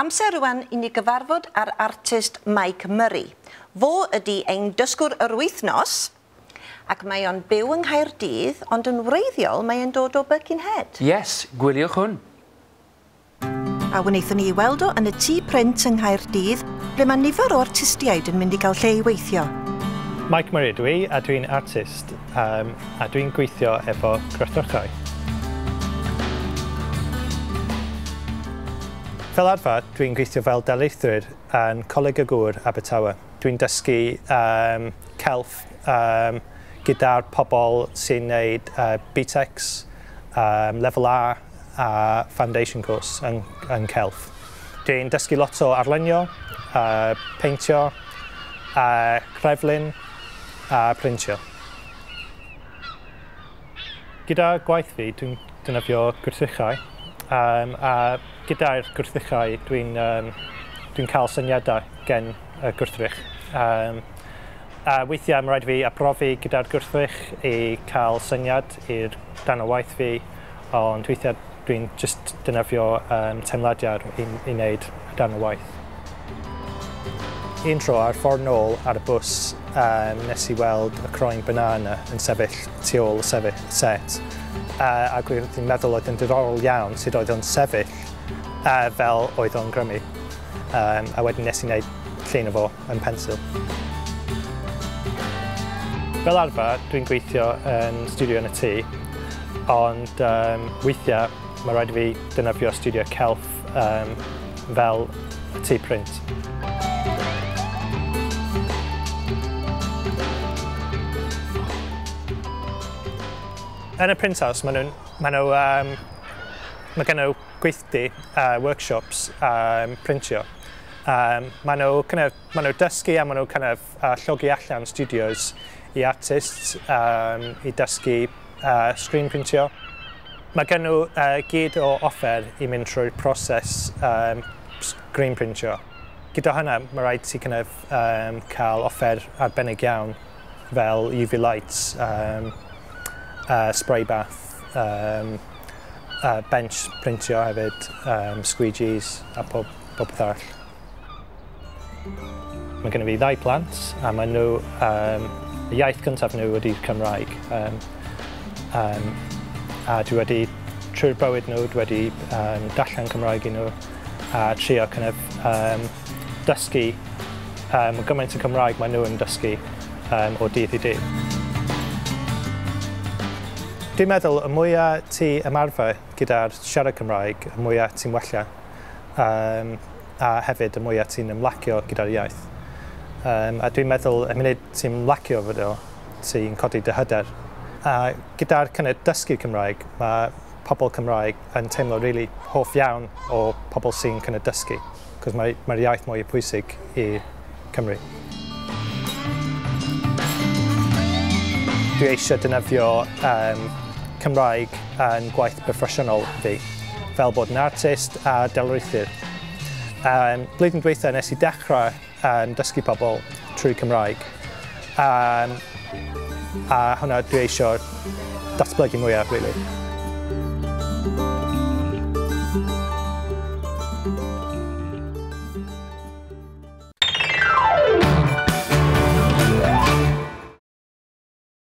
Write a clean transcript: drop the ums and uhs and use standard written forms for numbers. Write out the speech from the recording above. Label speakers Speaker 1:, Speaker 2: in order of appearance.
Speaker 1: Amser rwan i ni gyfarfod â'r artist Mike Murray. Fo ydy ein dysgwr yr wythnos, ac mae o'n byw yng Nghaerdydd, ond yn wreiddiol mae o'n dod o Birkenhead.
Speaker 2: Yes, gwyliwch hwn.
Speaker 1: A wnaethon ni weld o yn y Tŷ Print yng Nghaerdydd, ble mae nifer o artistiaid yn mynd i gael lle i weithio.
Speaker 3: Mike Murray ydw i, a dwi'n artist, a dwi'n gweithio efo gwrthrychau. Fel arfer, dwi'n gweithio fel darlithwyr yn Coleg y Gŵr Abertawe. Dwi'n dysgu celf gyda'r pobl sy'n gwneud BTECs, Level A a Foundation Course yn celf. Dwi'n dysgu lot o arlunio, peintio, creflun a printio. Gyda gwaith fi, dwi'n defnyddio gwrthrychau. A gyda'r gwrthrychau dwi'n cael syniadau gen y gwrthrych. A weithiau mae'n rhaid fi arbrofi gyda'r gwrthrych i cael syniad i'r dan o waith fi, ond weithiau dwi'n just defnyddio teimladiau i wneud dan o waith. Un tro ar ffordd nôl ar y bws nes i weld y croen banana yn sefyll tu ôl y set. Ac dwi'n meddwl oedd yn diddorol iawn sut oedd o'n sefyll fel oedd o'n grymu. A wedyn nes i wneud llun o fo yn pensil. Fel arfer, dwi'n gweithio yn studio yn y tŷ, ond weithiau mae rhaid i fi defnyddio studio celf fel y Tŷ Print. Yn y Print House, mae gen nhw gweithdy, workshops printio. Mae nhw dysgu a maen nhw kind of, llogi allan studios i artists i dysgu screen printio. Mae gen nhw gyd o offer i mynd trwy'r proses screen printio. Gyda hynna, mae rhaid ti kind of, cael offer arbennig iawn fel UV lights, spray bath, bench printio hefyd, squeegees a pob peth arall. Mae gen i fi ddau plant a maen nhw, y iaith gyntaf nhw ydy'r Cymraeg. A dwi wedi, trwy'r bywyd nhw, dwi wedi darllen Cymraeg i nhw a trio kind of, dysgu gymaint o Cymraeg maen nhw yn dysgu o dydd i dydd. Dwi'n meddwl y mwyaf ti ymarfer gyda'r siarad Cymraeg, y mwyaf ti'n wella, a hefyd y mwyaf ti'n ymlacio gyda'r iaith. A dwi'n meddwl y munud ti'n ymlacio fo, ti'n codi dy hyder. A gyda'r kind of dysgu Cymraeg, mae pobl Cymraeg yn teimlo really hoff iawn o pobl sy'n kind of dysgu, cos mae'r iaith mwy pwysig i Cymru. Dwi eisiau defnyddio Cymraeg yn gwaith proffesiynol fi, fel bod yn artist a darlithydd. Blwyddyn dwytha nes i dechrau dysgu pobl trwy Cymraeg. A hwnna dwi eisiau datblygu mwyaf, really.